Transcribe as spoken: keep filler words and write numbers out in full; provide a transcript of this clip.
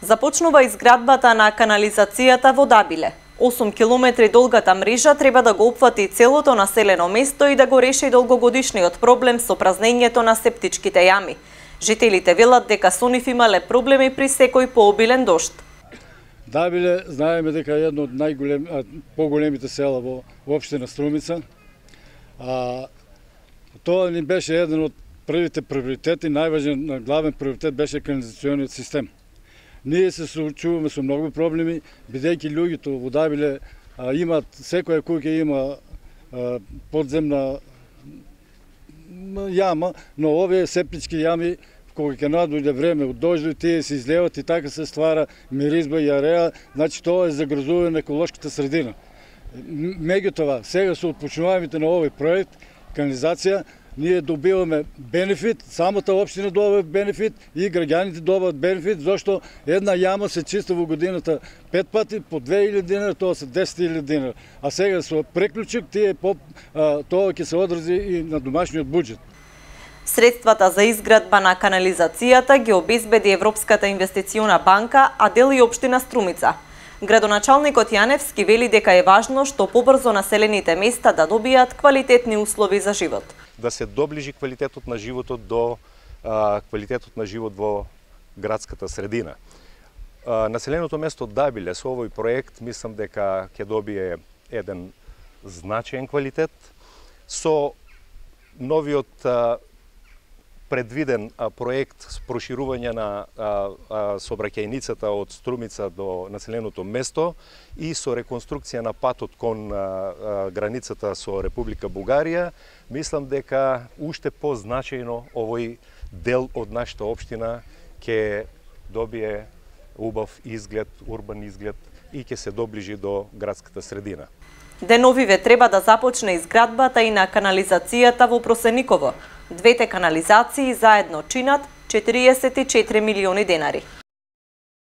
Започнува изградбата на канализацијата во Дабиле. осум километри долгата мрежа треба да го опфати целото населено место и да го реши долгогодишниот проблем со празнењето на септичките јами. Жителите велат дека со нив имале проблеми при секој пообилен дожд. Дабиле, знаеме дека е едно од најголем, поголемите села во општина Струмица. А, тоа ни беше еден од првите приоритети, најважен главен приоритет беше канализациониот систем. Ние се соочуваме со многу проблеми, бидејќи луѓето во Дабиле а, имаат, секоја куќа има а, подземна јама, но овие септички јами, кога ќе надојде време од дождови, тие се излеват и така се ствара миризба и ареа, значи тоа е загрозување на еколошката средина. Меѓутоа, сега со отпочнувањето на овој проект, канализација, ние добиваме бенефит, самата општина добива бенефит и граѓаните добиваат бенефит, зашто една јама се чисти во годината пет пати по две илјади динара, тоа се десет илјади динара. А сега со преклучок тие поп, а, тоа ќе се одрази и на домашниот буџет. Средствата за изградба на канализацијата ги обезбеди Европската инвестициона банка, а дел и општина Струмица. Градоначалникот Јаневски вели дека е важно што побрзо населените места да добијат квалитетни услови за живот. Да се доближи квалитетот на животот до а, квалитетот на живот во градската средина. А, населеното место Дабиле со овој проект мислам дека ќе добие еден значаен квалитет со новиот а, предвиден а, проект с проширување на а, а, сообраќајницата од Струмица до населеното место и со реконструкција на патот кон а, а, границата со Република Бугарија, мислам дека уште позначајно овој дел од нашата општина ќе добие убав изглед, урбан изглед и ќе се доближи до градската средина. Деновиве треба да започне изградбата и на канализацијата во Просениково. Двете канализации заедно чинат четириесет и четири милиони денари.